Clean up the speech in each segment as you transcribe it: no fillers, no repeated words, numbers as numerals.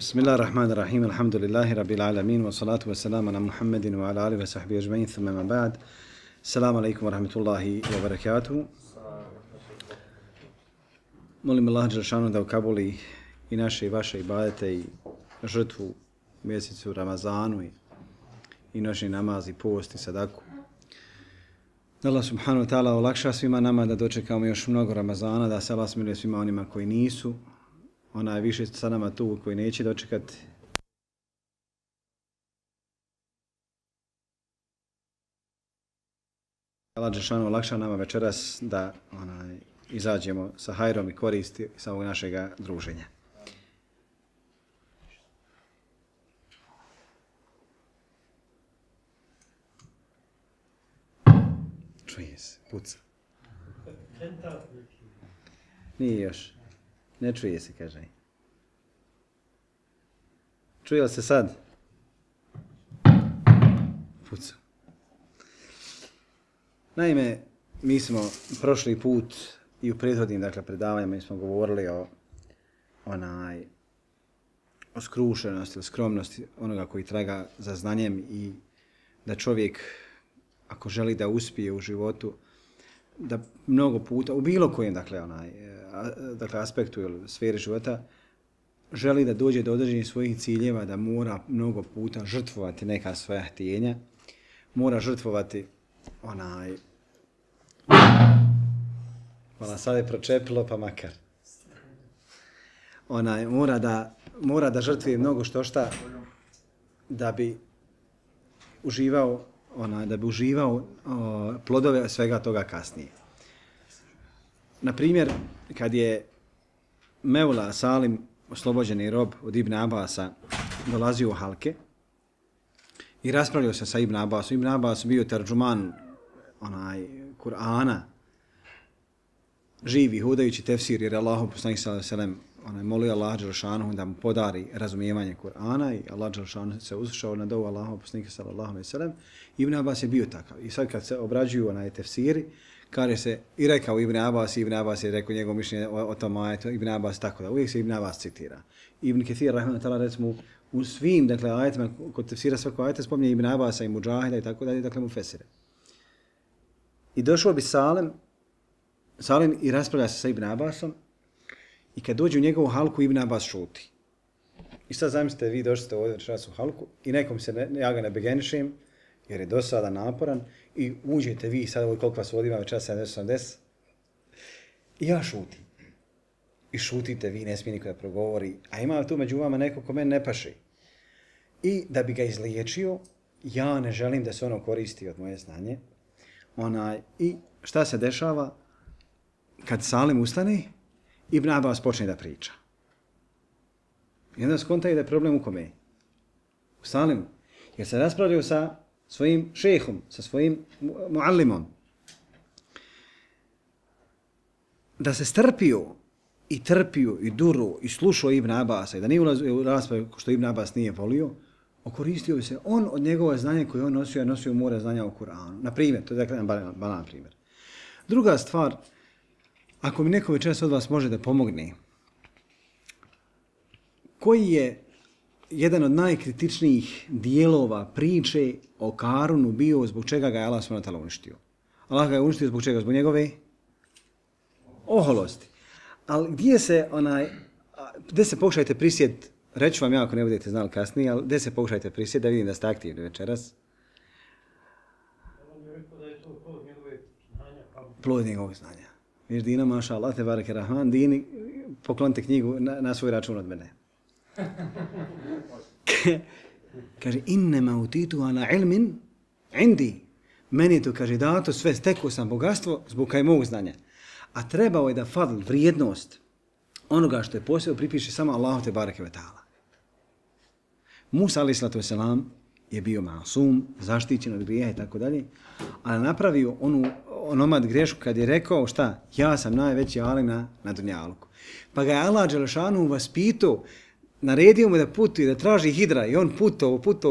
Bismillahirrahmanirrahim, alhamdulillahi rabbil alamin, wa salatu wa salamu ala Muhammedin wa ala alihi wa sahbihi ajma'in, thumma ma ba'd. Assalamu alaikum wa rahmatullahi wa barakatuhu. Molim Allah dželešanu da ukabuli i naše i vaše ibadete i žrtvu u mjesecu Ramazanu i noćni namaz i post i sadaku. Da Allah subhanahu wa ta'ala olakša svima nama da dočekamo još mnogo Ramazana, da se Allah smiluje svima onima koji nisu, ona je više sa nama tu koji neće dočekati. Allah dželešanu olakša nama večeras da izađemo sa hajrom i koristi sa ovog našeg druženja. Čuje se, puca. Nije još. Ne čuje se, kaže. Čuje li se sad? Puca. Naime, mi smo prošli put i u prethodnim predavanjima smo govorili o skrušenosti ili skromnosti onoga koji traga za znanjem i da čovjek, ako želi da uspije u životu, da mnogo puta, u bilo kojem aspektu ili sferi života, želi da dođe do određenih svojih ciljeva, da mora mnogo puta žrtvovati neka svoja htjenja, mora žrtvovati Hvala, sad je pročepilo, pa makar. Mora da žrtvuje mnogo šta da bi uživao plodove svega toga kasnije. Na primjer, kad je Mevla Salim, oslobođeni rob od Ibn Abasa, dolazio u halke i raspravljao se sa Ibn Abasom. Ibn Abbas bio terđuman Kur'ana, živi, hodajući tefsir, jer Allahu poslanik sallallahu alejhi ve sellem molio Allah dželešanu da mu podari razumijevanje Kur'ana i Allah dželešanu se uslušao na dovu Allahu poslanika sallallahu alejhi ve sellem. Ibn Abbas je bio takav. I sad kad se obrađuju tefsiri, kaže se i rekao Ibn Abbas je rekao njegovo mišljenje o tom ajetu, Ibn Abbas tako da uvijek se Ibn Abbas citira. Ibn Kathir rahimahullah recimo u svim ajetima kod tefsira svakog ajeta spominje Ibn Abbasa i Mudžahida i tako dalje, mu fesire. I došao bi Salim i raspravlja se sa Ibn Abbasom i kad dođe u njegovu halku, Ibn Abbas šuti. I sad zamislite, vi došli ovdje večeras u halku i nekom se ja ga ne begenišem jer je dosadan, naporan i uđete vi sad ovo koliko vas ovdje ima večeras 70-80 i ja šutim. I šutite vi, ne smije niko da progovori, a ima tu među vama neko ko meni ne paše. I da bi ga izliječio, ja ne želim da se ono koristi od moje znanje. I šta se dešava? Kad Salim ustane, Ibn Abbas počne da priča. I onda skontaju da je problem u kome? U Salimu. Jer se raspravljaju sa svojim šehom, sa svojim muallimom. Da se strpio i trpio i duro i slušao Ibn Abbasa i da nije ulazio u raspravu što Ibn Abbas nije volio, okoristio bi se on od njegova znanja koje on nosio more znanja o Kur'anu. Na primjer, to je jedan banan primjer. Druga stvar, ako mi neko večeras od vas može da pomogne, koji je jedan od najkritičnijih dijelova priče o Karunu bio zbog čega ga je Allah s.w.t. uništio? Allah ga je uništio zbog čega? Zbog njegove oholosti. Ali gdje se pokušajte prisjet, reću vam ja ako ne budete znali kasnije, ali gdje se pokušajte prisjet da vidim da ste aktivni večeras? Plod njegovog znanja. Viš Dina, maša Allah, te bareke rahman, Dini, poklonite knjigu na svoj račun od mene. Kaže, innema utitu ala ilmin indi. Meni je to, kaže, dato, sve stekao sam bogatstvo zbog mog znanja. A trebao je da fadl, vrijednost onoga što je posebno pripiše samo Allahu te bareke ve ta'ala. Musa alejhi salatu vesselam je bio masum, zaštićen od grijeha i tako dalje, ali napravio onomad grešku kad je rekao šta? Ja sam najveći alim na dunjaluku. Pa ga je Allah dželešanu vaspitao, naredio mu da putuje, da traži hidra i on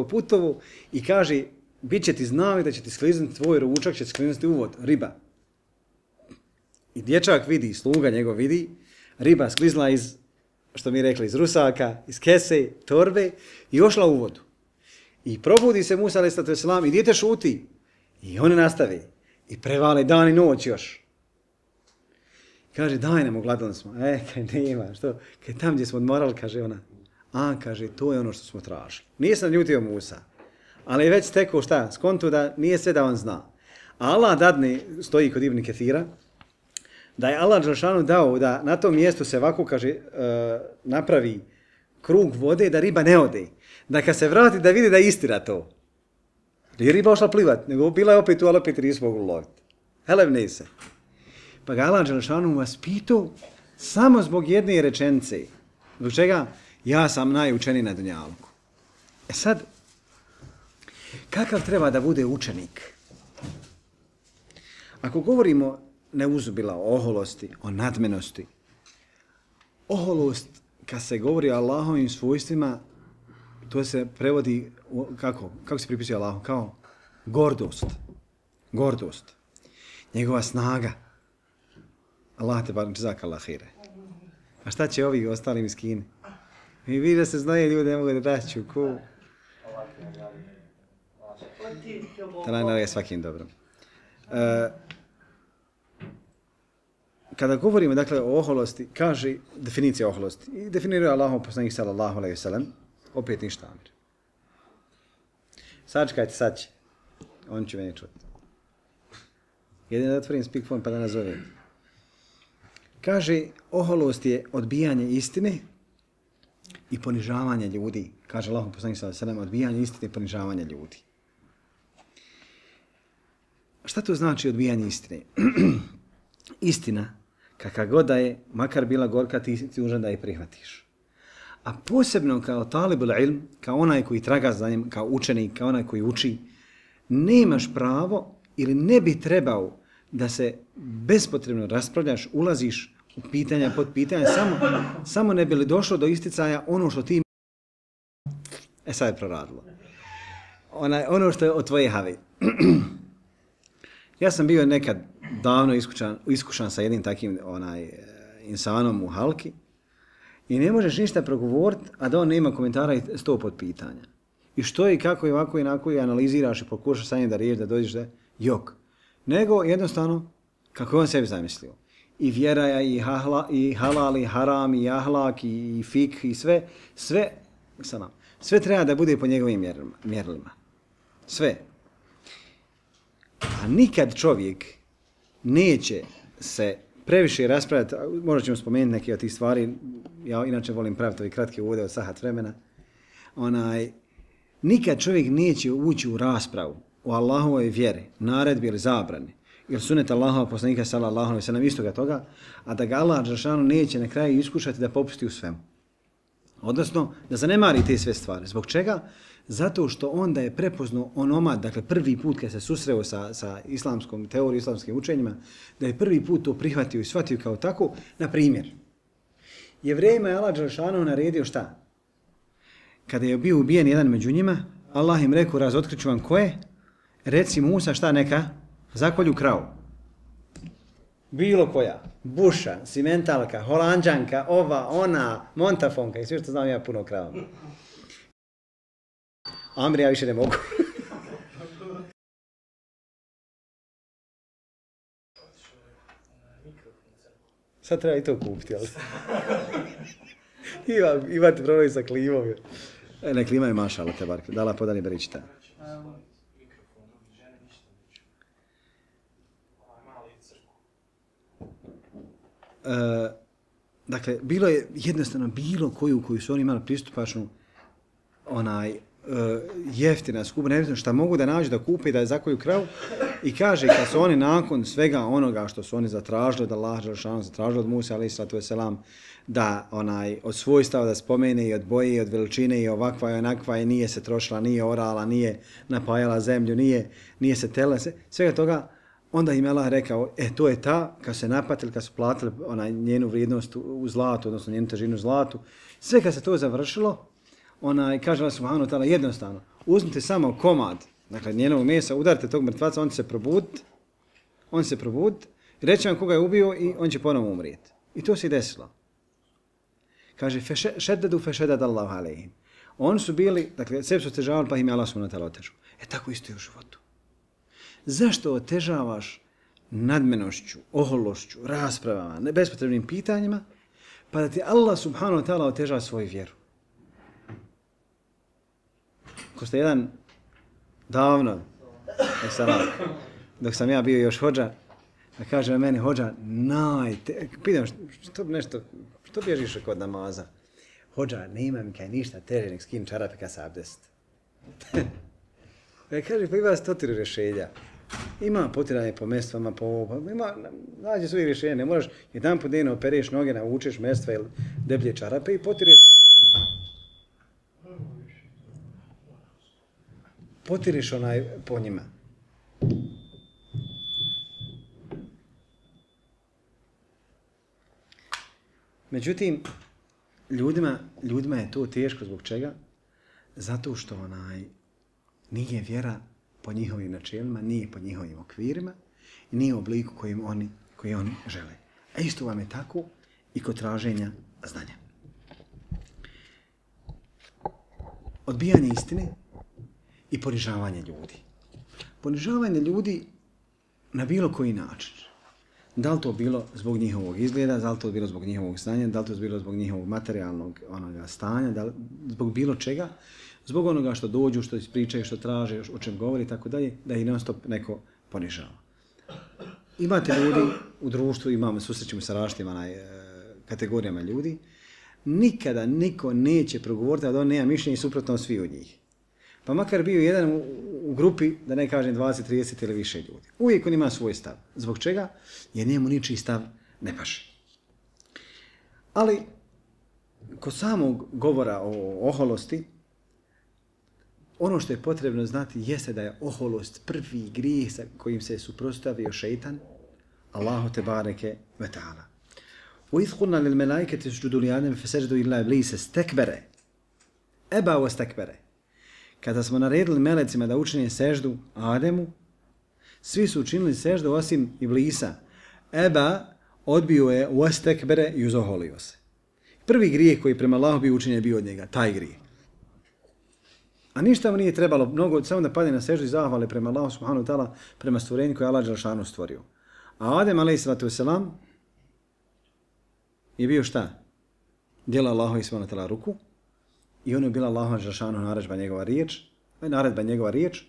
putovo i kaže, bit će ti znali da će ti skliznuti tvoj ručak, će ti skliznuti uvod, riba. I dječak vidi, sluga njegov vidi, riba sklizla iz što mi rekli, iz rusaka, iz kese, torbe i ošla u vodu. I probudi se Musa a.s. i dijete šuti. I oni nastavi. I prevale dan i noć još. Kaže, daj nam, ogladali smo. Kaj nema, što? Kaj tam gdje smo odmorali, kaže ona. Kaže, to je ono što smo tražili. Nije sam ljutio Musa. Ali je već stekao šta? Skontu da nije sve da on zna. A Allah dadne, stoji kod Ibn Kathira, da je Allah Đelešanu dao da na tom mjestu se ovako, kaže, napravi krug vode da riba ne ode. Da kad se vrati da vidi da je istina to. Nije riba ošla plivat, nego bila je opet tu, ali opet nisu mogli loviti. Helevne se. Pa ga Allah Đelešanu vas pitao samo zbog jedne rečenice. Zbog čega? Ja sam najučeniji na dunjaluku. Sad, kakav treba da bude učenik? Ako govorimo neuzubila o oholosti, o nadmenosti, oholost, kad se govori o Allahovim svojstvima, to se prevodi, kako se pripisuje Allahu? Kao gordost. Gordost. Njegova snaga. Allah te bar džezak Allah hire. A šta će ovi ostali miskini? I vidi da se znaje ljudi, ne mogu da daću. Ko? Da je svakim dobrom. Kada govorimo dakle o oholosti, kaže definicija oholosti. I definiruje Allahov poslanik sallallahu alejhi ve sellem, opet ništa. Sačekajte, sad će. On će meni čuti. Jedino da otvorim speakphone pa da nazovem. Kaže, oholost je odbijanje istine i ponižavanje ljudi. Kaže Allahov poslanik sallallahu alejhi ve sellem, odbijanje istine i ponižavanje ljudi. Šta to znači odbijanje istine? Istina, kakva god da je, makar bila gorka, ti dužan da je prihvatiš. A posebno kao talibul ilm, kao onaj koji traga za njim, kao učenik, kao onaj koji uči, nemaš pravo ili ne bi trebao da se bespotrebno raspravljaš, ulaziš u pitanja, pod pitanja, samo ne bi li došlo do isticaja ono što ti sad je proradilo. Ono što je od tvoje have. Ja sam bio nekad davno iskušan sa jednim takim insanom u halki i ne možeš ništa progovoriti, a da on nema komentara i 100 podpitanja. I što i kako i ovako i onako i analiziraš i pokušaš sa njim da riješ, da dođeš da jok. Nego jednostavno kako je on sebi zamislio. I vjera, i halal, i haram, i ahlak, i fik, i sve treba da bude po njegovim mjerilima. Sve. A nikad čovjek neće se previše raspravljati, možda ćemo spomenuti neke od tih stvari, ja inače volim praviti ove kratke uvode od sahat vremena, nikad čovjek neće ući u raspravu o Allahovoj vjeri, naredbi ili zabrani, ili sunet Allahova poslanika sallallahu alejhi ve sellem istoga toga, a da ga Allah dželešanu neće na kraju iskušati da popusti u svemu. Odnosno, da zanemari te sve stvari. Zbog čega? Zato što onda je prepoznao onomad, dakle prvi put kad se susreo sa islamskom teorijom, islamskim učenjima, da je prvi put to prihvatio i shvatio kao tako. Na primjer, Jevrejima je Allah dželešanu naredio šta? Kada je bio ubijen jedan među njima, Allah im rekao, razotkriću vam ko je, reci Musa šta neka, zakolju kravu. Bilo koja, buša, simentalka, holanđanka, ova, ona, montafonka i sve što znam ja puno krava. Amri, ja više ne mogu. Sad treba i to kupiti, ali... Imate problem sa klimom. Ne, klima je mašala, te barke. Dala podani beričita. Dakle, bilo je jednostavno bilo koju su oni imali pristupačnu jeftina skupa, nevjetno šta mogu da nađu da kupe i da je zakolju kravu i kaže kad su oni nakon svega onoga što su oni zatražili, da Allah dželešanu zatražili od Musa alejhi selam da od svojstava da spomene i od boje i od veličine i ovakva i onakva i nije se trošila, nije orala, nije napajala zemlju, nije se tela, svega toga, onda im Allah rekao, to je ta, kad se napatili, kad su platili njenu vrijednost u zlatu, odnosno njenu težinu u zlatu, sve kad se to završilo, kaže Allah subhanahu wa ta'ala jednostavno, uzmite samo komad, dakle njenog mesa, udarite tog mrtvaca, on će se probuditi, reći vam koga je ubio i on će ponovo umrijeti. I to se i desilo. Kaže, šeddedu fešedad Allahu alejhim. Oni su bili, dakle, sebi su otežavali, pa im je Allah subhanahu wa ta'ala otežao. Tako isto je u životu. Zašto otežavaš nadmenošću, ohološću, raspravama, bespotrebnim pitanjima, pa da ti Allah subhanahu wa ta'ala otežava svoju vjeru? Ko ste jedan davno, dok sam ja bio još hodža, da kaže meni hodža, pitam što bježiš kod namaza? Hodža, nema mi kaj ništa teže nek skin čarape kad se abdest. Ja kaže, pa ima 100 rješenja. Ima potiranje po mestvama, nađe svojih rješenja, ne moraš jedan put dnevno opereš noge, navučeš mestva ili deblje čarape i potiriš po njima. Međutim, ljudima je to teško zbog čega? Zato što nije vjera po njihovim načelima, nije po njihovim okvirima i nije u obliku koji oni žele. A isto vam je tako i kod traženja znanja. Odbijanje istine i ponižavanje ljudi. Ponižavanje ljudi na bilo koji način. Da li to bilo zbog njihovog izgleda, da li to bilo zbog njihovog znanja, da li to bilo zbog njihovog materijalnog stanja, zbog bilo čega, zbog onoga što dođu, što ispričaju, što traže, o čem govori i tako dalje, da ih non stop neko ponižava. Imate ljudi u društvu, susrećemo sa različitim kategorijama ljudi, nikada niko neće progovoriti, a da on nema mišljenja i suprotno svi od njih. Pa makar bio jedan u grupi, da ne kažem 20, 30 ili više ljudi. Uvijek on ima svoj stav. Zbog čega? Jer njemu ničiji stav ne paše. Ali, kod samog govora o oholosti, ono što je potrebno znati jeste da je oholost prvi grijeh sa kojim se suprotstavio šeitan, Allahu te bareke ve ta'ala. وَإِذْ قُلْنَا لِلْمَلَائِكَةِ اسْجُدُوا لِآدَمَ فَسَجَدُوا إِلَّا إِبْلِيسَ اسْتَكْبَرَ أَبَى وَاسْتَكْبَرَ. Kada smo naredili melecima da učine seždu Ademu, svi su učinili seždu osim Iblisa. Eba odbio je wastakbara i uzoholio se. Prvi grijeh koji prema Allahu bio učinjen je bio od njega, taj grijeh. A ništa mu nije trebalo mnogo, samo da padne na seždu i zahvale prema Allahu subhanahu wa ta'ala, prema stvorenju koje je Allah dželešanu stvorio. A Adem a.s. je bio šta? Djela Allahu subhanahu wa ta'ala ruku i ono je bila Allahu dželešanu naredba njegova riječ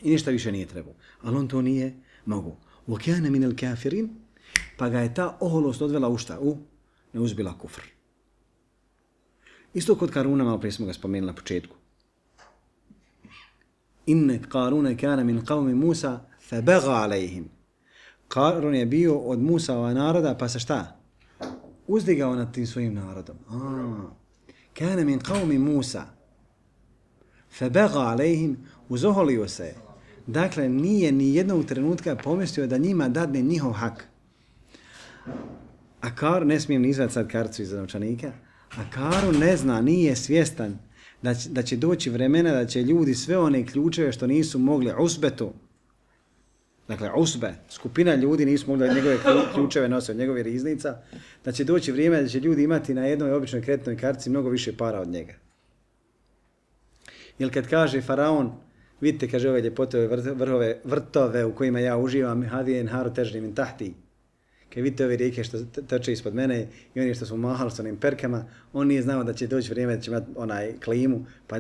i ništa više nije trebao. Ali on to nije mogu. وَكَانَ مِنَ الْكَافِرِينَ. Pa ga je ta oholost odvela u šta? Ne uzbila kufr. Isto kod Karuna, malo prije smo ga spomenuli na početku. Inne Karuna kana min qavmi Musa fabagha alejhim. Karun je bio od Musava naroda, pa se šta? Uzdigao nad tim svojim narodom. Kana min qavmi Musa fabagha alejhim, uzoholio se. Dakle, nije ni jednog trenutka pomislio da njima dadne njihov hak. A Karun, ne smijem ni izvati sad karticu iz novčanika, a Karun ne zna, nije svjestan da će doći vremena da će ljudi sve one ključeve što nisu mogli usbetu, dakle usbe, skupina ljudi nisu mogli njegove ključeve nositi od njegove riznica, da će doći vrijeme da će ljudi imati na jednoj običnoj kreditnoj kartici mnogo više para od njega. Jer kad kaže faraon, vidite, kaže ove ljepote, vrtove u kojima ja uživam, hadijen haru težni min tahti, kad vidite ove rijeke što teče ispod mene i oni što su mahali s onim perkama, on nije znao da će doći vrijeme da će imati klimu, pa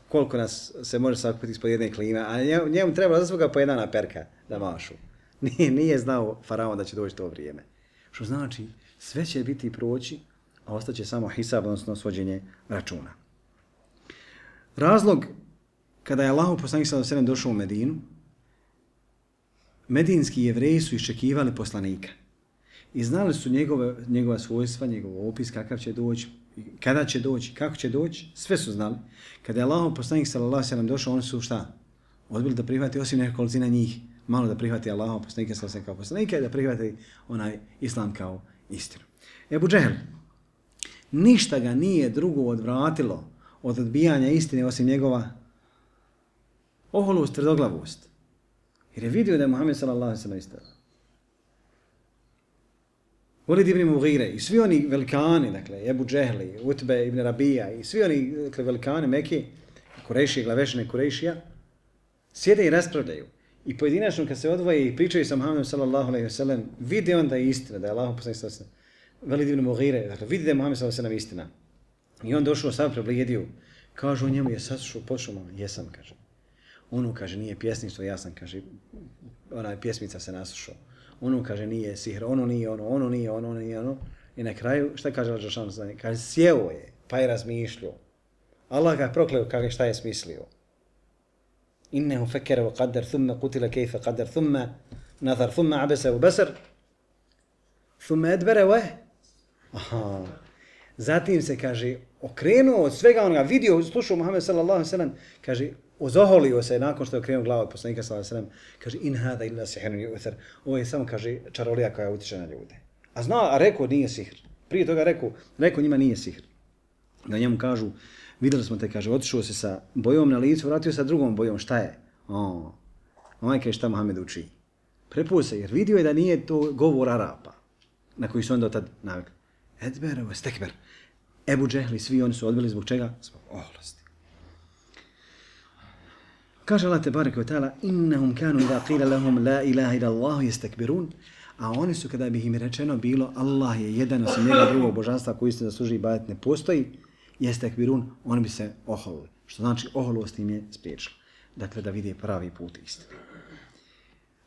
koliko nas se može sakupiti ispod jedne klime, a njemu treba za svoga po jedna perka da mašu. Nije znao faraon da će doći to vrijeme. Što znači, sve će biti proći, a ostaće samo hisab, odnosno svođenje računa. Razlog, kada je Allahov poslanik sallallahu alejhi ve sellem došao u Medinu, medinski Jevreji su iščekivali poslanika i znali su njegova svojstva, njegov opis, kakav će doći, kada će doći, kako će doći, sve su znali. Kada je Allahov poslanik sallallahu alejhi ve sellem došao, oni su šta? Odbili da prihvati osim nekolicina njih, malo da prihvati Allahov poslanika sallallahu alejhi ve sellem kao poslanika i da prihvati onaj islam kao istinu. Ebu Džehel, ništa ga nije drugo odvratilo od odbijanja istine osim njegova oholost, Walid ibn Mughire i svi oni velikani, dakle, Ebu Džehli, Utbe ibn Rabija i svi oni dakle, velikani Mekke, Kurejšije, glavešine Kurejšija, sjede i raspravljaju. I pojedinačno kad se odvoje i pričaju sa Muhammedom sallallahu alejhi ve sellem, vide onda istina da je Allahov poslanik sallallahu alejhi ve sellem, Walid ibn Mughire, dakle, vidi da je Muhammed sallallahu alejhi ve sellem istina. I on došao sam preblijedio. Kažu njemu je saslušao, počeo jesam, kaže. Ono kaže nije pjesništvo, ja sam, kaže, ona pjesmica se naslušao. Ono kaže nije sihr, ono nije ono, ono nije ono, ono nije ono. I na kraju šta kaže Allah dželle šanuhu? Kaže sjeo je, pa je razmišljao. Allah ga prokleo kaže šta je smislio. Innehu fekere wa qaddar thumma qutila kayfa qaddar thumma nazar thumma abasa wa basar thumma adbara wa aha. Zatim se kaže okrenuo od svega onoga, vidio, slušao Muhammed sallallahu alejhi ve sellem, kaže ozoholio se nakon što je okrenuo glavu od poslanika sallallahu alejhi ve sellem, kaže in hada illa sihrun yu'thar. Ovo je samo kaže čarolija koja utiče na ljude. A rekao nije sihr. Prije toga rekao njima nije sihr. Da njemu kažu vidjeli smo te, kaže, otišao se sa bojom na licu, vratio sa drugom bojom, šta je? Ovaj kaže šta Muhammed uči. Prepuo se, jer vidio je da nije to govor Arapa, na koji su onda tad navikli. Edber, stekber. Ebu Džehli, svi oni su odbili zbog čega? Zbog oholosti. Kaže Allah tebareke ve ta'ala, innahum kanu idha qila lahum la ilaha illa Allah yastakbirun, a oni su kada bi im rečeno bilo Allah je jedan osim njega drugog božanstva koji se zasluži ibadet ne postoji, yastakbirun, oni bi se oholili. Što znači oholost im je spriječila. Dakle, da vide pravi put istine.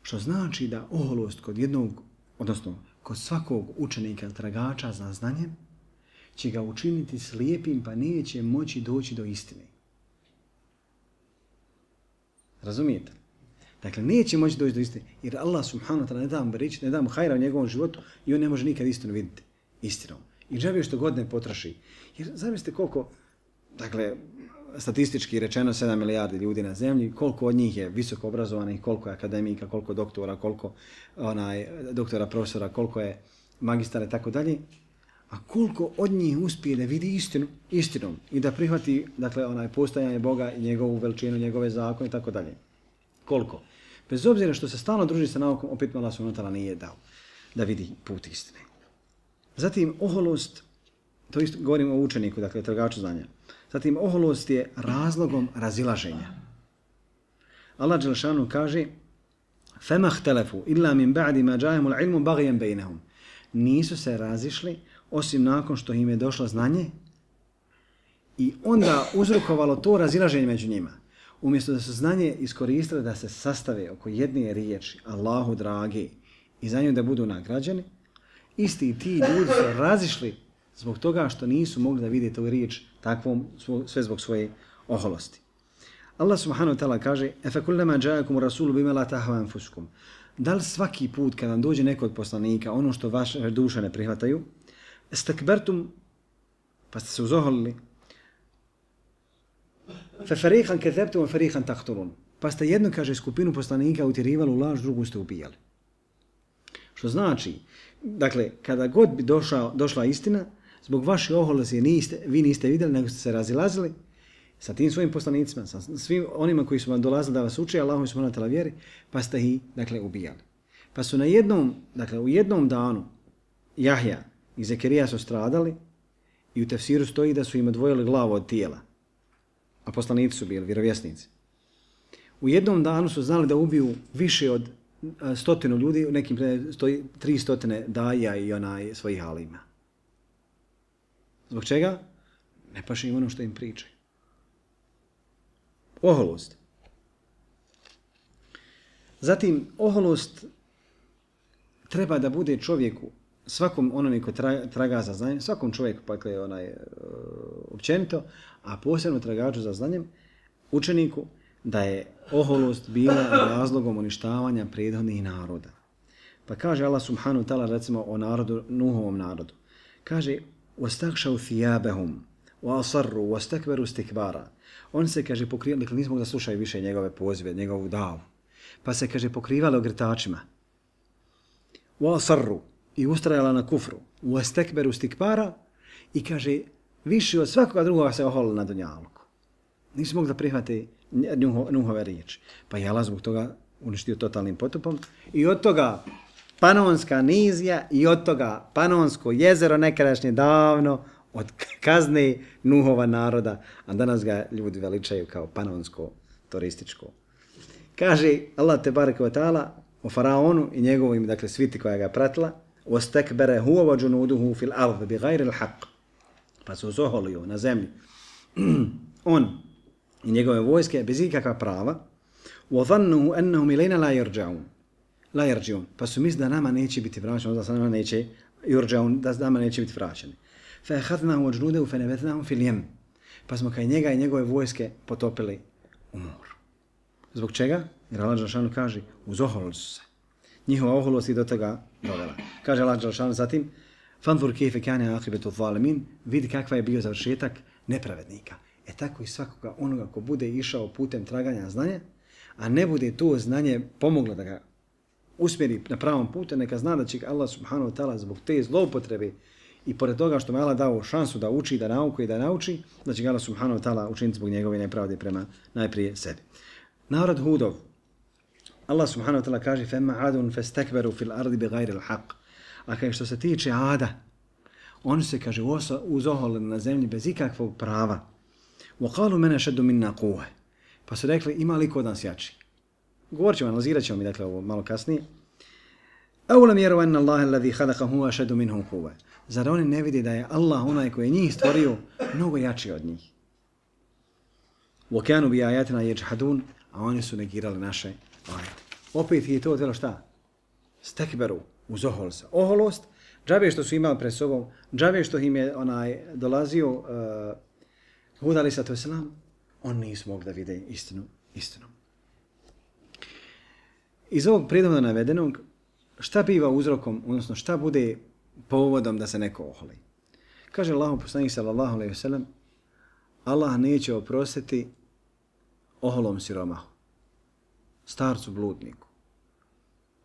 Što znači da oholost kod jednog, odnosno kod svakog učenika tragača za znanjem, će ga učiniti slijepim pa neće moći doći do istine. Razumijete? Dakle, neće moći doći do istine, jer Allah subhanahu wa ta'ala ne da mu beričiti, ne da mu hajra u njegovom životu i on ne može nikad istinu vidjeti istinom. I džabe što god ne potraši. Jer zamislite koliko, dakle, statistički rečeno 7 milijardi ljudi na zemlji, koliko od njih je visoko obrazovanih, koliko je akademika, koliko doktora, koliko doktora, profesora, koliko je magistara i tako dalje. A koliko od njih uspije da vidi istinom i da prihvati, dakle, postojanje Boga i njegovu veličinu, njegove zakone i tako dalje. Koliko? Bez obzira što se stalno druži sa naukom, opet Allah subhanahu wa ta'ala nije dao da vidi put istine. Zatim, oholost, to isto govorimo o učeniku, dakle, tragaču znanja. Zatim, oholost je razlogom razilaženja. Allah dželle šanuhu kaže فَمَا اخْتَلَفُوا إِلَّا مِنْ بَعْدِ مَا جَاءَهُمُ الْعِلْمُ بَغْيًا بَيْنَهُمْ. Nisu se razišli osim nakon što im je došlo znanje i onda uzrokovalo to razilaženje među njima. Umjesto da su znanje iskoristili da se sastave oko jedne riječi, Allahu dragi, i za nju da budu nagrađeni, isti ti ljudi su razišli zbog toga što nisu mogli da vide tu riječ takvom, sve zbog svoje oholosti. Allah subhanahu wa ta'ala kaže اَفَكُلَّمَا جَاءَكُمُ رَسُولُ بِمَا لَا تَهْوَا أَنفُسُكُمْ. Da li svaki put kada vam dođe neko od poslanika, ono što vaše duše ne prihvataju, estakbertum, pa ste se uzoholili, فَفَرِيقًا كَذَبْتُمْ وَفَرِيقًا تَقْتُلُونَ. Pa ste jednu, kaže, skupinu poslanika utjerivali u laž, drugu ste ubijali. Što znači, dakle, kada god bi došla istina, zbog vaše oholosti vi niste vidjeli, nego ste se razilazili sa tim svojim poslanicima, sa svim onima koji su vam dolazili da vas uče, Allahu subhanahu wa ta'ala vjeri, pa ste ih, dakle, ubijali. Pa su u jednom danu Jahja i Zekerija su stradali i u tefsiru stoji da su im odvojili glavu od tijela, a poslanici su bili vjerovjesnici. U jednom danu su znali da ubiju više od 100 ljudi, u nekim stoji 300 daja i svojih alima. Zbog čega? Ne paše im ono što im pričaju. Oholost. Zatim, oholost treba da bude čovjeku, svakom onome ko traga za znanjem, svakom čovjeku, dakle, općenito, a posebno tragaču za znanjem, učeniku, da je oholost bila razlogom uništavanja prethodnih naroda. Pa kaže Allah subhanahu wa ta'ala, recimo o narodu, Nuhovom narodu. Kaže, وَاسْتَغْشَوْ ثِيَابَهُمْ وَأَصَرُّوا وَاسْتَكْبَرُوا اسْتِكْبَارًا. On se, kaže, pokrivali, dakle, nismo da slušaju više njegove pozive, njegovu davu. Pa se, kaže, pokrivali ogrtačima. وَأَصَرُّوا i ustrajala na kufru. وَاسْتَكْبَرُوا اسْتِكْبَارًا i, kaže, više od svakoga drugoga se oholili na dunjaluku. Nisu mogli da prihvate Nuhove riječi. Pa je Allah zbog toga uništio totalnim potopom i od toga Panonska nizija i od toga Panonsko jezero nekadašnje davno od kazne Nuhova naroda, a danas ga ljudi veličaju kao Panonsko turističko. Kaže Allah tebareke ve taala o faraonu i njegovim dakle sviti koja ga pratila, wastakbara huwa wa junuduhu fil ard bighayri al-haqq. Pa su zoholio na zemlji. On i njegove vojske bez ikakva prava. Wa dhannu annahum ilayna la yarji'un. Pa su misli da nama neće biti vraćeni, da nama neće yurja'un, da nama neće biti vraćeni. Fa akhadnahu wa junudahu fa nabathnahum fil yam. Pa smo kaj njega i njegove vojske potopili u moru. Zbog čega? Jer Allah dželešanu kaže, uzoholili su se. Njihova oholost i do toga dovela. Kaže Allah dželešanu zatim, fanzur kayfa kana aqibatu zalimin, vidi kakva je bio završetak nepravednika. Tako i svakoga onoga ko bude išao putem traganja znanja, a ne bude to znanje pomoglo da ga usmjeri na pravom putu, neka zna da će Allah subhanahu wa ta'ala zbog te zloupotrebe i pored toga što mu Allah dao šansu da uči, da nauku i da nauči, da će ga Allah subhanahu wa ta'ala učiniti zbog njegove nepravde prema najprije sebi. Narod Hudov. Allah subhanahu wa ta'ala kaže فَمَّا عَادٌ فَاسْتَكْبَرُوا فِي الْأَرْضِ بِغَيْرِ الْحَقِّ. A kaže što se tiče Ada, oni se kaže uzoholili na zemlji bez ikakvog prava. وَقَالُوا مَنَ شَدُّ مِنَّا قُوَةً. Pa su rekli ima li kod nas jači. Govorit ćemo, analizirat ćemo mi dakle ovo malo kasnije. أَوْلَمْ يَرَوْا أَنَّ اللَّهَ الَّذِي خَلَقَهُمْ أَشَدُّ مِنْهُمْ قُوَةً. Zar oni ne vidi da je Allah onaj koji je njih stvorio mnogo jači od njih. وَكَانُوا بِآيَاتِنَا يَجْحَدُونَ. A oni su negirali naše ajete. Opet je to telo šta? Stekberu, uzohol se. Oholost, džabe što su imali pred sobom, džabe što im je dolazio Hud alaih sallatu wasalam, on nisu mogli da vide istinu. Iz ovog predavno navedenog, šta biva uzrokom, odnosno šta bude povodom da se neko oholi? Kaže Allahu poslanik sallallahu alejhi ve sellem, Allah neće oprostiti oholom siromahu, starcu bludniku.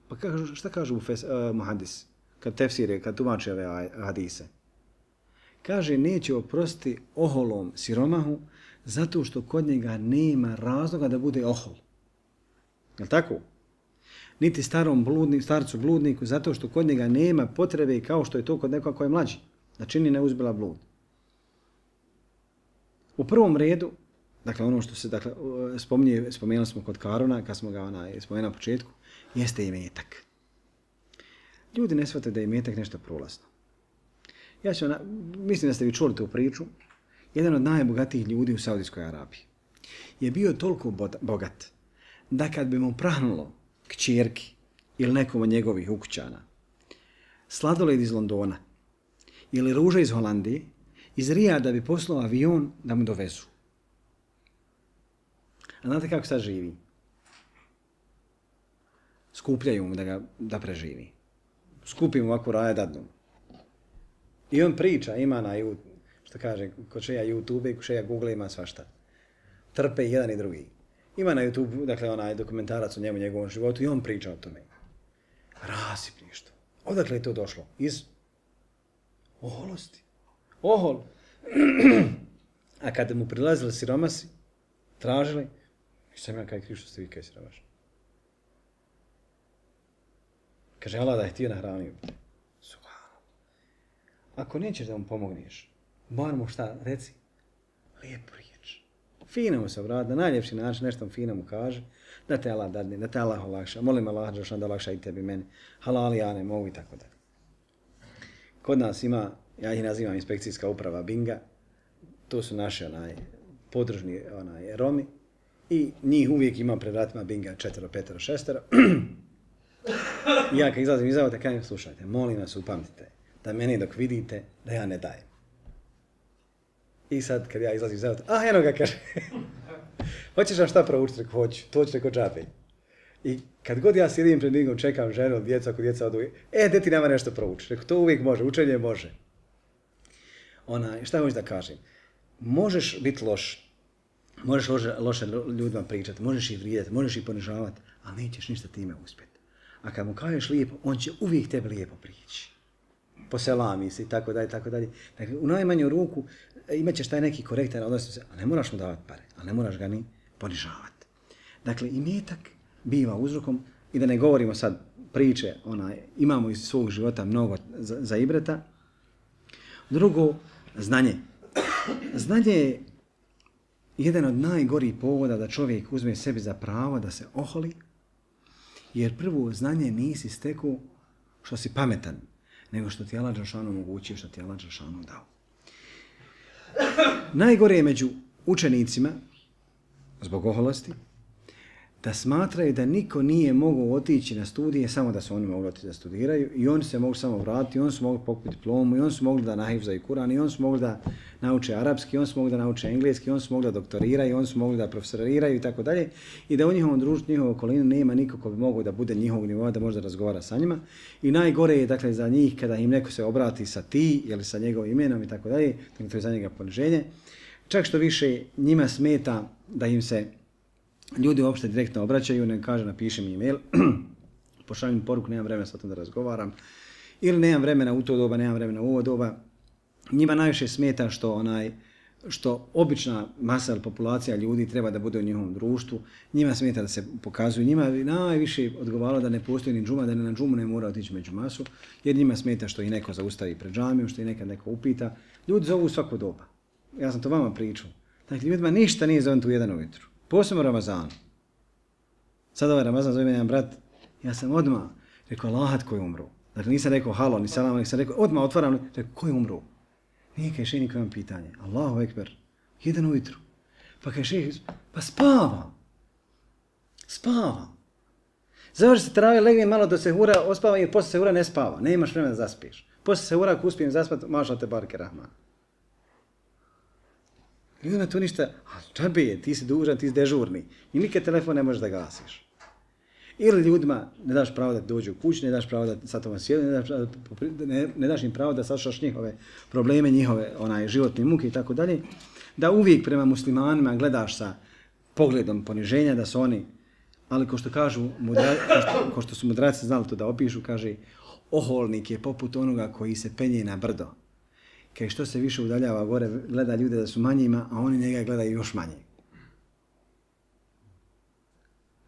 Pa šta kažu muhadis, kad tefsire, kad tumače ove hadise? Kaže, neće oprostiti oholom siromahu zato što kod njega nema razloga da bude ohol. Je li tako? Niti starcu bludniku zato što kod njega nema potrebe kao što je to kod nekoga koji je mlađi, da čini neuzbila blud. U prvom redu, dakle ono što se dakle, spomenuli smo kod Karuna, kad smo ga spomenuli na početku, jeste imetak. Ljudi ne shvate da je imetak nešto prolazno. Mislim da ste vi čuli tu priču. Jedan od najbogatijih ljudi u Saudijskoj Arabiji je bio toliko bogat da kad bi mu prahnulo kćerki ili nekom od njegovih ukućana sladoled iz Londona ili ruža iz Holandije, iz Rijada bi poslao avion da mu dovezu. A znate kako sad živi? Skupljaju mu da preživi. Skupim ovako raje dadnu. I on priča, ima na što kaže, ko čeja YouTube i ko čeja Google ima svašta. Trpe jedan i drugi. Ima na YouTube, dakle, onaj dokumentarac o njemu, njegovom životu i on priča o tome. Rasipništvo. Odakle je to došlo? Iz oholosti. Ohol. A kada mu prilazili siromasi, tražili, sam ja kaj kriv što ste vi kaj siromašni. Kaže, Allah da je htio nahranio. Ako nećeš da mu pomogneš, bar mu šta, reci, lijepu riječ. Fino mu se obrati, na najljepši način nešto fino mu kaže, da te Allah dadne, da te Allah olakša, molim Allah da olakša i tebi meni, halali ja ne mogu i tako dalje. Kod nas ima, ja ih nazivam inspekcijska uprava Binga, to su naši podružni Romi i njih uvijek ima pred vratima Binga 4, 5, 6. Ja kad izlazim iz auta, kažem, slušajte, molim vas upamtite da meni dok vidite da ja ne dajem. I sad kad ja izlazim iz auta, eno ga kaže, hoćeš nam šta proučiti? Hoću, to ću neko džabe. I kad god ja sjedim pred Bingom, čekam ženu, djecu, ako djeca odu, gdje ti nama nešto proučiti? Rekao, to uvijek može, učenje može. Šta hoću da kažem? Možeš biti loš, možeš loše ljudima pričati, možeš ih vrijedati, možeš ih ponižavati, ali nećeš ništa time uspjeti. A kad mu kažeš lijepo, on će uvijek tebe lijepo prići. Poselami se i tako dalje, tako dalje. Dakle, u najmanju ruku imat ćeš taj neki korektan odnos, a ne moraš mu davati pare, a ne moraš ga ni ponižavati. Dakle, imetak biva uzrokom, i da ne govorimo sad priče imamo iz svog života mnogo za ibreta. Drugo, znanje. Znanje je jedan od najgorih povoda da čovjek uzme sebi za pravo da se oholi, jer prvo znanje nisi stekao što si pametan, nego što ti Allah dželešanu omogućio, što ti Allah dželešanu dao. Najgore je među učenicima, zbog oholosti, da smatraju da niko nije mogao otići na studije samo da su oni mogli otići da studiraju i oni se mogu samo vratiti, i oni su mogli pokupiti diplomu, i oni su mogli da nahifzaju Kur'an, i oni su mogli da nauče arapski, i oni su mogli da nauče engleski, i oni su mogli da doktoriraju, i oni su mogli da profesoriraju i tako dalje, i da u njihovom društvu, njihovoj okolini nema niko ko bi mogao da bude njihovog nivoa, da može da razgovara sa njima. I najgore je dakle za njih kada im neko se obrati sa ti ili sa njegovim imenom i tako dalje, to je za njega poniženje. Čak što više njima smeta da im se ljudi uopšte direktno obraćaju, ne kaže napiši mi e-mail, pošaljem poruku, nemam vremena sa tom da razgovaram, ili nemam vremena u to doba, nemam vremena u ovo doba. Njima najviše smeta što obična masa ili populacija ljudi treba da bude u njihovom društvu, njima smeta da se pokazuju, njima najviše odgovaralo da ne postoji ni džuma, da na džumu ne mora otići među masu, jer njima smeta što i neko zaustavi pred džamijom, što i nekad neko upita. Ljudi zovu svako doba. Ja sam to vama pričao. Dakle, ljudima ništa nije zovem tu jedan ujutru. Posebno Ramazanu. Sad ovaj Ramazan zove me jedan brat, ja sam odmah rekao Allahat koji umru. Dakle, nisam rekao halo, ni salam, nek sam rekao odmah otvaram, rekao koji umru. Nije kaj šeji niko imam pitanje. Allahu ekber, jedan ujutru. Pa kaj šeji, pa spava. Spava. Završi se teravije, legne malo do sehura, ospava jer posle sehura ne spava. Ne imaš vremena da zaspiš. Posle sehura ako uspijem zaspati, mašal te barke rahman. Ljudima to ništa, a džabe je, ti si dužan, ti si dežurni. I nikad telefon ne možeš da gasiš. Ili ljudima ne daš pravo da dođu u kući, ne daš pravo da sa tobom sjede, ne daš im pravo da sašaš njihove probleme, njihove životne muke i tako dalje. Da uvijek prema muslimanima gledaš sa pogledom poniženja, da su oni, ali ko što kažu, ko što su mudraci znali to da opišu, kaže, oholnik je poput onoga koji se penje na brdo. Kaj što se više udaljava gore, gleda ljude da su manjima, a oni njega gledaju još manje.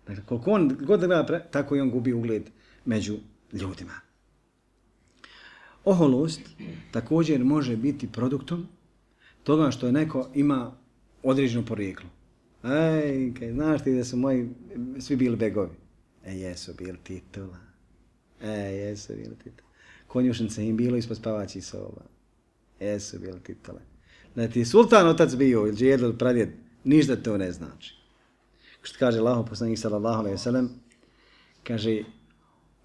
Dakle, koliko on god gleda, tako i on gubi ugled među ljudima. Oholost također može biti produktom toga što je neko ima određeno porijeklo. Ej, kaj znaš ti da su moji svi bili begovi? Jesu bili titula. Jesu bili titula. Konjušnice im bilo ispod spavaćih soba. Jesu bili titule. Da ti je sultan otac bio ili džed ili pradjed, ništa to ne znači. Što kaže Allahov poslanik sallallahu alejhi ve sellem, kaže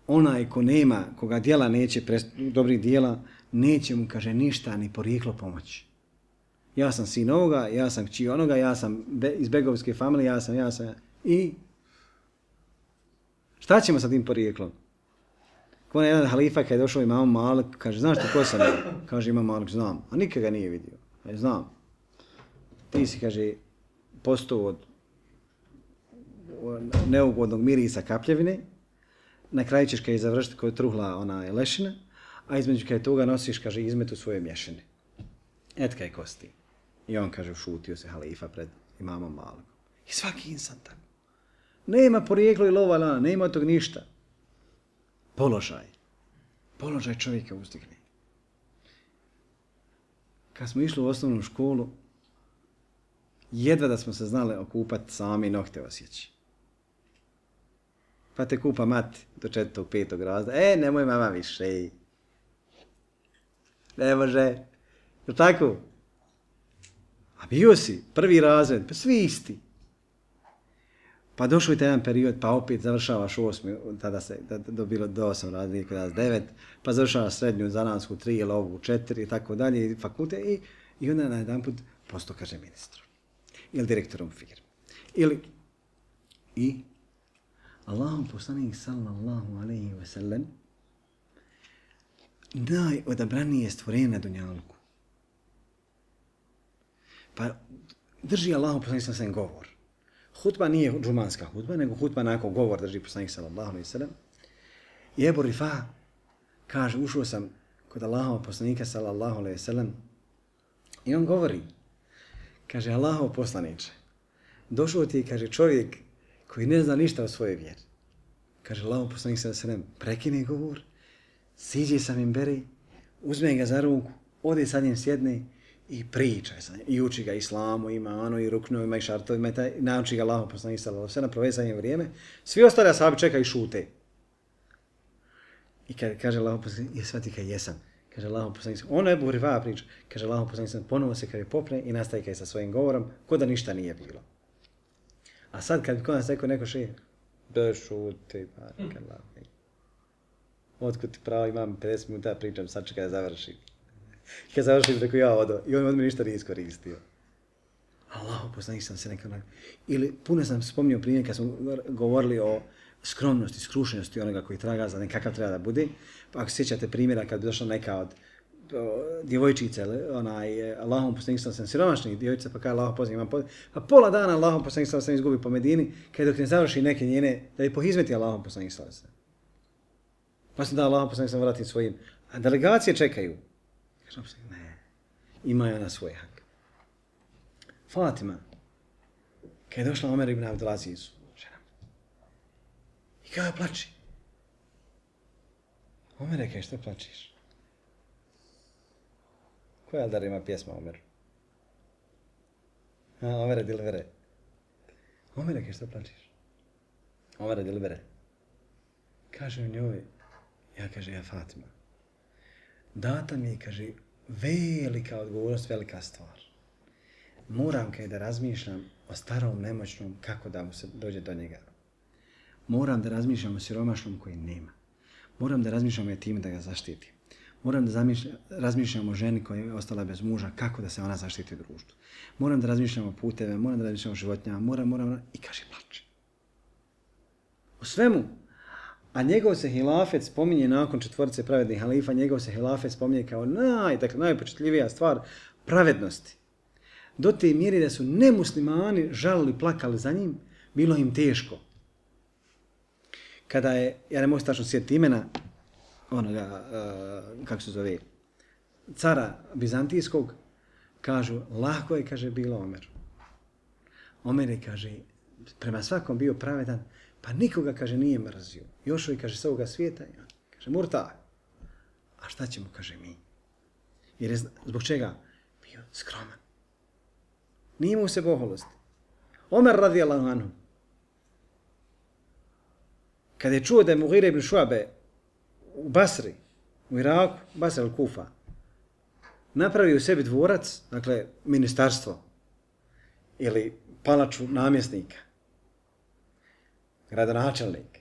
onaj ko nema, koga djela neće, dobrih djela, neće mu, kaže, ništa ni porijeklo pomoći. Ja sam sin ovoga, ja sam kći onoga, ja sam iz begovske familije, ja sam. I šta ćemo sa tim porijeklom? Ko jedan halifa kad je došao imam Malik, kaže, znaš ti ko sam ja? Kaže, imam Malik, znam. A nikad ga nije vidio. Kaže, znam. Ti si, kaže, postao od neugodnog mirisa kapljevine, na kraju ćeš kad je završiti kod truhla lešina, a između kad je toga nosiš, kaže, izmetu svoje mješine. Et kaj kosti. I on, kaže, šutio se halifa pred imamom Malikom. I svaki insan tako. Nema porijeklo i lova lana, nema od tog ništa. Položaj čovjeka uzdigne. Kad smo išli u osnovnu školu, jedva da smo se znali okupati sami nokte osjeći. Pa te kupa mati do 4. 5. razreda. Nemoj mama više. Ne može. Je tako? A bio si, 1. razred, pa svi isti. Pa došao je jedan period, pa opet završavaš 8. tada se dobilo do 8 razreda, kada 9, pa završavaš srednju zanatsku 3 ili ovu 4 i tako dalje, fakulte i onda na jedan put postao, kaže, ministrom. Ili direktorom firme. I Allahom poslanik sallallahu alejhi ve sellem najodabranije stvorenje na dunjalku. Pa drži Allahom poslanik sallallahu alejhi ve sellem govor. Hutba nije džumanska hutba, nego hutba nakon govor drži poslanik sallallahu alejhi ve sellem. I Ebu Rifa kaže, ušao sam kod Allahova poslanika sallallahu alejhi ve sellem i on govori, kaže, Allahov poslaniče, došao ti, kaže, čovjek koji ne zna ništa o svojoj vjeri. Kaže Allahov poslanik sallallahu alejhi ve sellem, prekine govor, siđe sa minberi, uzme ga za ruku, ode sa njim sjedne i priča sa njim. I uči ga islamu, imanu, i ruknovima, i šartovima, i nauči ga Allahov poslanik sallallahu alejhi ve sellem, provede sa njim vrijeme. Svi ostali ashabi čekaju i šute. I kaže Allahov poslanik, je shvati kaj jesam. Kaže Allahov poslanik, ono je Ebu Hureyre priča. Kaže Allahov poslanik, ponovo se kada je popne i nastaje kaj sa svojim govorom, ko da ništa nije bilo. A sad kad bi kod nas rekao neko šehe, da šuti, barakallahu. Otkud ti pravo, imam 50 minuta pričam, sad čekaj da završim. I kad završim, rekao ja odo. I on od mene ništa nije iskoristio. Allahu poslanik sam se nekako... Ili puno sam spominjao primjer kad smo govorili o skromnosti, skrušenosti onoga koji traga za nekakav treba da bude. Pa ako sjećate primjera kad bi došla neka od djevojčice, Allahom poslanik sam siromašnih djevojčica, pa kada Allahom poslanik imam pa pola dana Allahom poslanik sam izgubi po Medini, kada dok ne završi neke njene, da je pohizmeti Allahom poslanik sam. Pa sam da Allahom poslanik sam vratim svojim. A delegacije čekaju. Kažem se, ne, imaju ona svoj hak. Fatima, kada je došla Omer ibn Abdulazizu, žena, i kada plači. Omer rekao, što plačiš? Koja Aldar ima pjesma Omeru? Omere dilvere. Omer rekao, što plačiš? Omere dilvere. Kaže u njoj, ja Fatima, data mi je, kaže, velika odgovornost, velika stvar. Moram da razmišljam o starom, nemoćnom, kako da mu se dođe do njega. Moram da razmišljam o siromašnom koji nema. Moram da razmišljam o time da ga zaštitim. Moram da razmišljam o ženi koja je ostala bez muža, kako da se ona zaštiti u društvu. Moram da razmišljam o puteve, moram da razmišljam o životinjama, moram, i kaže plače. O svemu. A njegov se hilafet spominje nakon četvorice pravednih halifa, njegov se hilafet spominje kao najpočetljivija stvar pravednosti. Do te mjere da su nemuslimani žalili, plakali za njim, bilo im teško. Kada je, ja ne mogu tačno sjetiti imena, onoga, kako se zove, cara Bizantijskog, kažu, lako je, kaže, bilo Omeru. Omer je, kaže, prema svakom bio pravedan, pa nikoga, kaže, nije mrzio. Još je, kaže, s ovoga svijeta, kaže, murta. A šta ćemo, kaže, mi? Jer je, zbog čega? Bio skroman. Nije mu se poholosti. Omer radijallahu anhu, kada je čuo da je Mughira ibn Šuabe u Basri, u Iraku, Basra al-Kufa, napravio u sebi dvorac, dakle, ministarstvo, ili palaču namjesnika, gradonačelnik,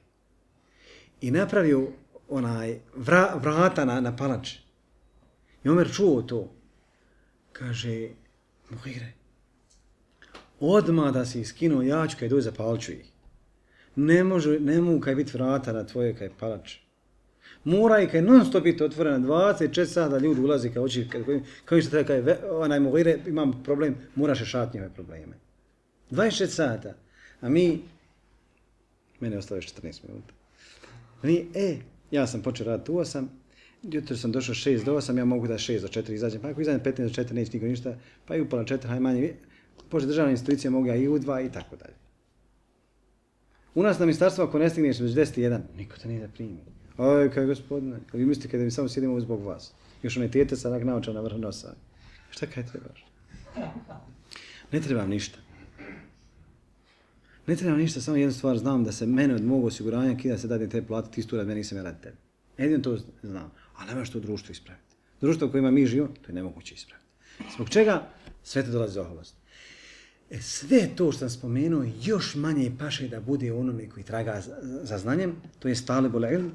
i napravio vrata na palači. I Omer čuo to. Kaže, Mughire, odmah da si skinuo, ja ću kaj dođe zapalit ću ih. Ne mogu kaj biti vrata na tvoje kaj palače. Mora i kaj non stop biti otvorena 24 sata, ljudi ulazi kaj oči, kao što treba kaj, Mughire, imam problem, moraš rešati njove probleme. 24 sata. A mene ostalo još 14 minuta. Ja sam počeo raditi u 8, jutro sam došao 6 do 8, ja mogu da 6 do 4 izađem, pa ako izađem 15 do 4 neće niko ništa, pa i upola 4, haj manje, pošto državna institucija mogu ja i u 2 i tako dalje. U nas na ministarstvo ako ne stigneš već 10 i 1, niko te nije da primi. Oj, kaj gospodine, vi mislite kada mi samo sjedimo zbog vas. Još one tete sa onak naoča na vrh nosa. Šta kaj trebaš? Ne trebam ništa. Ne trebam ništa, samo jednu stvar znam da se mene od mog osiguranja kida se dadi te plate, ti stura, meni nisam ja radi tebi. Jedino to znam, ali nemaš to društvo ispraviti. Društvo u kojima mi živimo, to je nemoguće ispraviti. Zbog čega? Sve te dolazi za oholost. Sve to što sam spomenuo još manje paše da bude onome koji traga za znanjem, to je talibul ilm,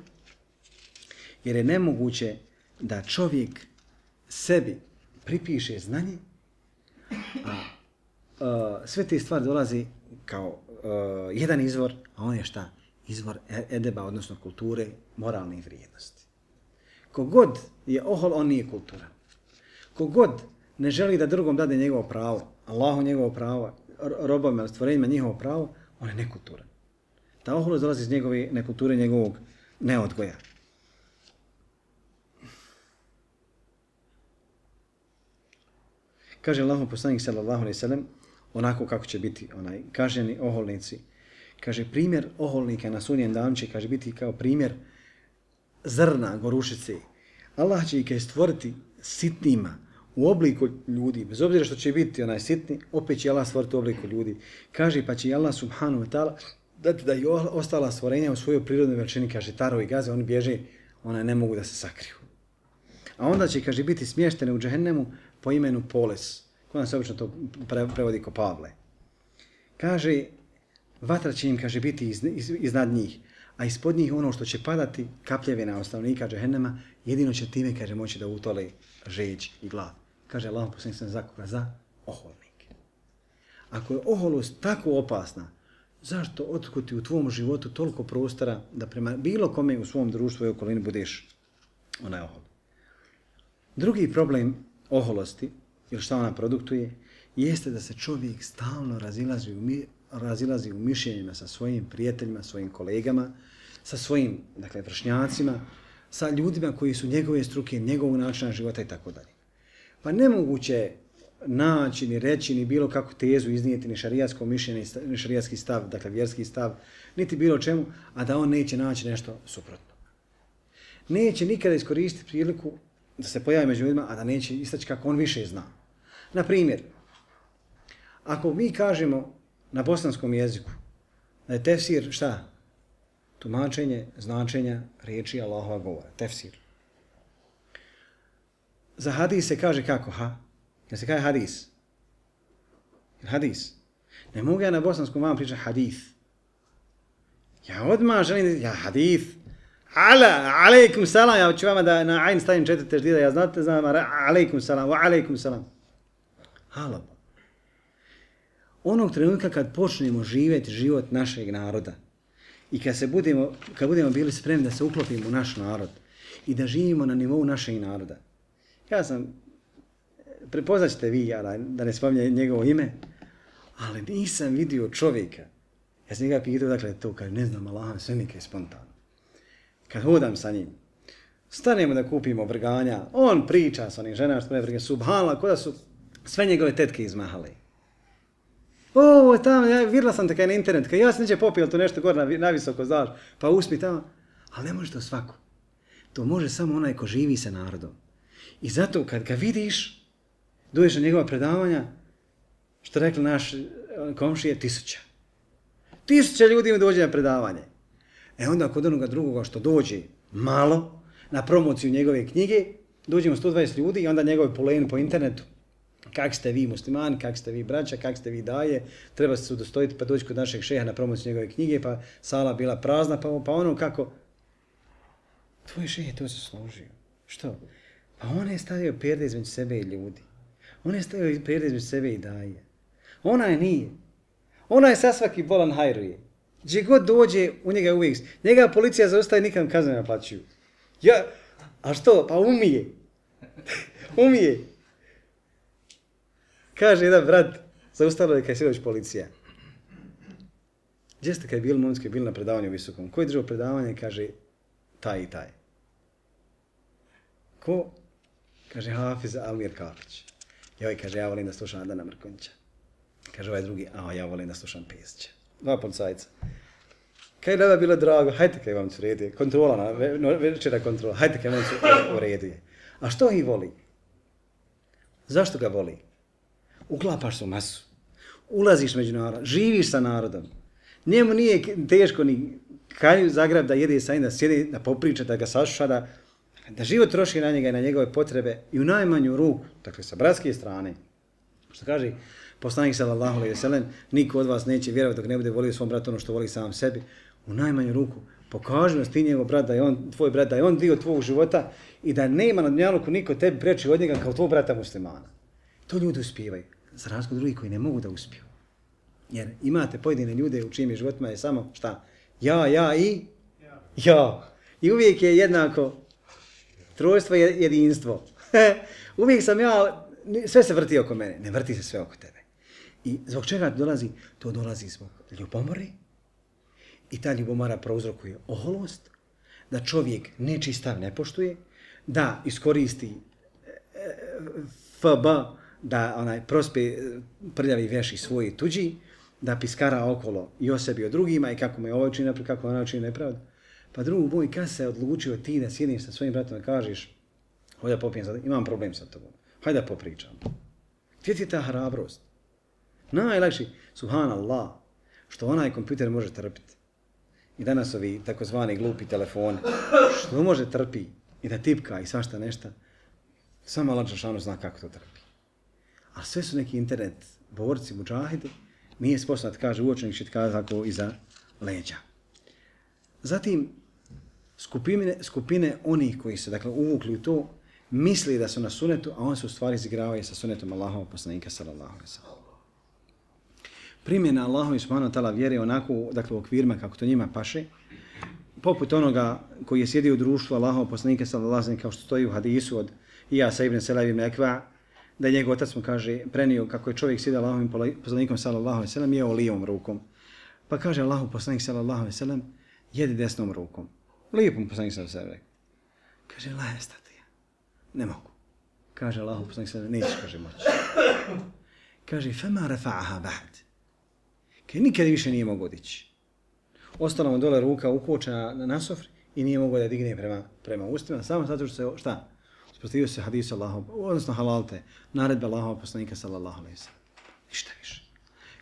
jer je nemoguće da čovjek sebi pripiše znanje, a sve te stvari dolazi kao jedan izvor, a on je šta? Izvor edeba, odnosno kulture, moralne vrijednosti. Kogod je ohol, on nije kulturan. Kogod ne želi da drugom dade njegovo pravo, Allahu njegovo pravo, robovima, stvorenjima njihovo pravo, on je nekulturan. Ta oholost dolazi iz njegove nekulture, njegovog neodgoja. Kaže Allahov poslanik sallallahu alejhi ve sellem, onako kako će biti kažnjeni oholnici. kaže, primjer oholnika na sudnjem danu će, kaže, biti kao primjer zrna, gorušice. Allah će ih kaže stvoriti sitnima u obliku ljudi, bez obzira što će biti onaj sitni, opet će Allah stvoriti u obliku ljudi. Kaže, pa će Allah subhanahu wa ta'ala dati da i ostala stvorenja u svojoj prirodnoj veličini, kaže, tarovi gaze, oni bježe, ona ne mogu da se sakriju. A onda će, kaže, biti smještene u džehennemu po imenu Poles. Kod se obično to prevodi ko Pavle. Kaže, vatra će im, kaže, biti iznad njih, a ispod njih ono što će padati, kapljevina ostavnika džehennema, jedino će time, kaže, moći da utole žeđ i glad. Kaže Allah poslanik za koga? Za oholnike. Ako je oholost tako opasna, zašto otkuti u tvom životu toliko prostora da prema bilo kome u svom društvu i okolini budeš onaj ohol? Drugi problem oholosti, ili šta ona produktuje, jeste da se čovjek stalno razilazi u mišljenjima sa svojim prijateljima, svojim kolegama, sa svojim, dakle, vršnjacima, sa ljudima koji su njegove struke, njegovog načina života i tako dalje. Pa nemoguće naći, ni reći, ni bilo kakvu tezu iznijeti, ni šarijatsko mišljenje, ni šarijatski stav, dakle vjerski stav, niti bilo čemu, a da on neće naći nešto suprotno. Neće nikada iskoristiti priliku da se pojavi među ljudima, a da neće istaći kako on više zna. Na primjer, ako mi kažemo na bosanskom jeziku da je tefsir šta? Tumačenje značenja riječi Allahova govora. Tefsir. Za hadis se kaže kako? Jel se kaže hadis? Hadis. Ne mogu ja na bosanskom vam pričati hadith. Ja odmah želim ja hadith. Alejkum salam, ja ću vama da na ajn stavim 4 teždida, ja znate, znam, alejkum salam, wa alejkum salam. Halaba. Onog trenutka kad počnemo živjeti život našeg naroda i kad budemo bili spremni da se uklopimo u naš narod i da živimo na nivou našeg naroda. Ja sam, prepoznaćete vi, ja da ne spominjem njegovo ime, ali nisam vidio čovjeka. Ja sam njega pitao, dakle, to kaže, ne znam, Allah, sve mi je spontano. Kad hodam sa njim, stanemo da kupimo vrganja, on priča sa onim ženama, što vrganja, subhanallah, kod da su sve njegove tetke izmahale. O, tamo, ja vidjela sam te kaj na internet, kaj ja sam neće popio to nešto gore na visoko, znaš, pa usmi tamo. Ali ne može to svako. To može samo onaj ko živi sa narodom. I zato kad ga vidiš, dođeš na njegova predavanja, što rekli naš komšije, 1000. 1000 ljudi im dođe na predavanje. E onda kod onoga drugoga što dođe malo, na promociju njegove knjige, dođemo 120 ljudi i onda njegove poleni po internetu. Kak ste vi muslimani, kak ste vi braća, kak ste vi daje, treba se udostojiti pa doći kod našeg šeha na promociju njegove knjige, pa sala bila prazna, pa ono kako... Tvoj šeh je to zaslužio. Što? Pa on je stavio perde između sebe i ljudi. On je stavio perde između sebe i daje. Ona je nije. Ona je sa svaki bolan hajruje. Gdje god dođe, u njega uvijek... Njega policija zaustaje, nikad kazne ne naplaćuju. Ja, a što? Pa umije. Umije. Kaže jedan brat, zaustavila je kaj se doći policija. Gdje ste kaj bili momci, bili na predavanju visokom? Ko je držao predavanje? Kaže, taj i taj. Ko? Kaže, Hafiz Almir Kapić. Joj, kaže, ja volim da slušam Adana Mrkonjića. Kaže ovaj drugi, ja volim da slušam Pesića. 2 policajca. Kaj da bilo drago, hajte kaj vam se uredi. Kontrola, večera kontrola, hajte kaj vam se uredi. A što ih voli? Zašto ga voli? Uklapaš se u masu. Ulaziš među narodom, živiš sa narodom. Njemu nije teško ni Kalju Zagreb da jede sa njim, da sjedi, da popriča, da ga sašuša, da život troši na njega i na njegove potrebe i u najmanju ruku, dakle sa bratske strane. Što kaže poslanik sallallahu alejhi ve sellem, niko od vas neće vjerovati dok ne bude volio svom bratu ono što voli sam sebi. U najmanju ruku pokaži nas ti njegov brat da je on tvoj brat, da je on dio tvog života i da nema na dunjaluku niko tebi preči od njega kao tvoj brata muslimana. To ljudi uspijevaju, za razliku drugih koji ne mogu da uspiju. Jer imate pojedine ljude u čijim životima je samo šta? Ja i ja. I uvijek je jednako trojstvo i jedinstvo. Uvijek sam ja, sve se vrti oko mene, ne vrti se sve oko tebe. I zbog čega to dolazi? To dolazi zbog ljubomore i ta ljubomora prouzrokuje oholost, da čovjek nečiji stav ne poštuje, da iskoristi FB, da prospe prljavi veš i svoj tuđi, da piskara okolo i o sebi o drugima i kako me ovo učini nepravdu, kako ona učini nepravdu. Pa drug moj, kad se odlučio ti da sjediš sa svojim bratom i kažeš hajde da popijem sad, imam problem sa tobom, hajde da popričam. Gdje ti je ta hrabrost? Najlakši, subhanallah, što onaj kompjuter može trpiti. I danas ovi takozvani glupi telefoni, što može trpi i da tipka i svašta nešto, samo Allah dželešanu zna kako to trpi. A sve su neki internet borci, mudžahidi, nije sposobno da kaže uočnik će kaže tako iza leđa. Zatim, skupine onih koji se dakle uvukli u to, misli da su na sunetu, a on se u stvari izigravaju sa sunetom Allahovog poslanika sallallahu alejhi ve sellem. Primjena Allahovi subhanahu wa ta'ala vjere onako, dakle u okvirima kako to njima paše, poput onoga koji je sjedio u društvu Allahovog poslanika sallallahu alejhi ve sellem, kao što stoji u hadisu od Iyasa ibn Selab ibn Ekva, da je njegov otac mu kaže, prenio kako je čovjek sjedio Allahovim poslanikom sallallahu alejhi ve sellem, jeo lijevom rukom. Pa kaže Allahov poslanik sallallahu alejhi ve sellem, jedi desnom rukom. Lijepom poslanik sallallahu alejhi ve sellem. Kaže, la estati, ne mogu. Kaže Allahov poslanik sallallahu alejhi ve sellem, nećeš, kaže, moći. Kaže, fema rafa'aha ba'd. Kaže, nikad više nije mogao dići. Ostala mu dole ruka ukočena na sofri i nije mogao da digne prema ustima, samo zato što se, šta? Usprotivio se hadisu Allahov, odnosno halalte, naredbe Allahov poslanika sallallahu alejhi ve sellem. Ništa više.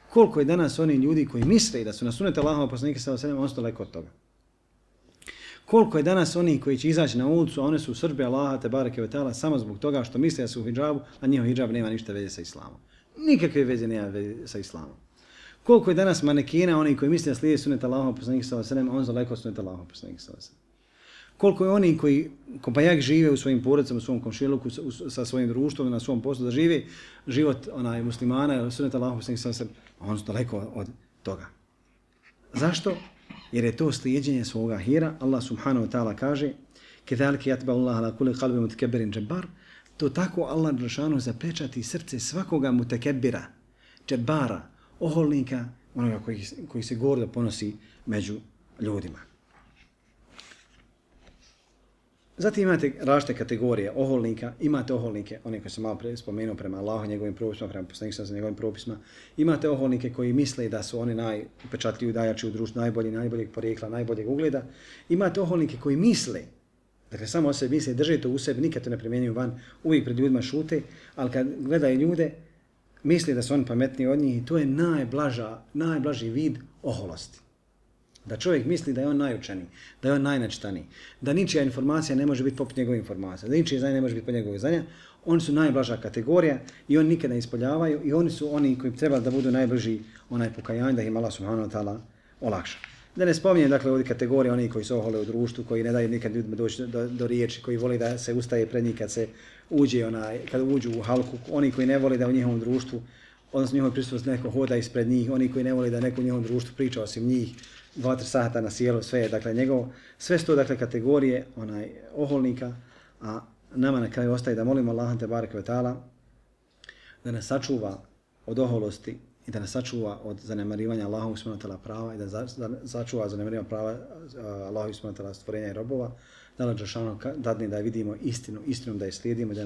Koliko je danas oni ljudi koji misle da su na sunet Allahov poslanika sallallahu alejhi ve sellem, on su daleko od toga. Koliko je danas oni koji će izaći na ulicu, a one su u srdbi Allaha te bareke ve taala samo zbog toga što misle da su u hidžabu, a njihov hidžab nema ništa veze sa islamom. Nikakve veze nema veze sa islamom. Koliko je danas manekina oni koji misle da slijede sunet Allahov poslanika sallallahu alejhi ve sellem, on daleko od sunet Allahov poslanika sallallahu alejhi ve sellem. Koliko je oni koji kopajak žive u svojim porodicama, u svom komšiluku, sa svojim društvom, na svom poslu, da žive život muslimana, sunet Allahov poslanika sallallahu alejhi ve sellem, on su daleko od toga. Zašto? Jer je to slijedjenje svoga hira. Allah subhanahu wa ta'ala kaže كَذَلِكَ يَتْبَعُ اللَّهَ عَلَى كُلِّ قَلْبٍ مُتَكَبِّرٍ جَبَّارٍ. To tako Allah dželešanu zapečati srce svakoga mutekebira, džebara, oholnika, onoga koji se gordo ponosi među ljudima. Zatim imate različite kategorije oholnika, imate oholnike, one koje sam malo spomenuo prema Allahu, njegovim propisima, prema poslaniku sa njegovim propisima. Imate oholnike koji misle da su oni najupečatljiviji, najjači u društvu, najboljeg porijekla, najboljeg ugleda. Imate oholnike koji misle, dakle samo o sebi misle, drže to u sebi, nikad to ne primjenjuju van, uvijek pred ljudima šute, ali kad gledaju ljude, misle da su oni pametniji od njih i to je najblaži vid oholosti. Da čovjek misli da je on najučeniji, da je on najnačitaniji, da ničija informacija ne može biti poput njegove informacije, da ničije znanje ne može biti poput njegove znanja, oni su najblaža kategorija i oni nikada ne ispoljavaju i oni su oni koji trebali da budu najbliži onaj pokajanje, da im Allah subhanahu wa ta'ala olakša. Da ne spominjem dakle ovdje kategorije oni koji se ohole u društvu, koji ne daju nikad ljudima doći do riječi, koji voli da se ustaje pred njih kad se kad uđu u halku, oni koji ne voli da u njihovom društvu, odnosno njihovoj prisutnosti neko hoda ispred njih, oni koji ne voli da neko u njihovom društvu priča osim njih, 2-3 sata na sjelu, sve je dakle njegovo, sve su to dakle kategorije oholnika, a nama na kraju ostaje da molimo Allaha te bareke ve taala da nas sačuva od oholosti i da nas sačuva od zanemarivanja Allahovog subhanahu wa ta'ala prava i da sačuva zanemarivanja prava Allahovog subhanahu wa ta'ala stvorenja i robova, da Allah dželešanu dadne da vidimo istinu da je slijedimo, da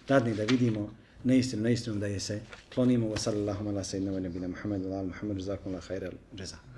dadne da vidimo neistinu da je se klonimo. Wa sallallahu ala sayyidina wa nabina Muhammed wa ala Muhammed, jazakumullahu khairal jazaa.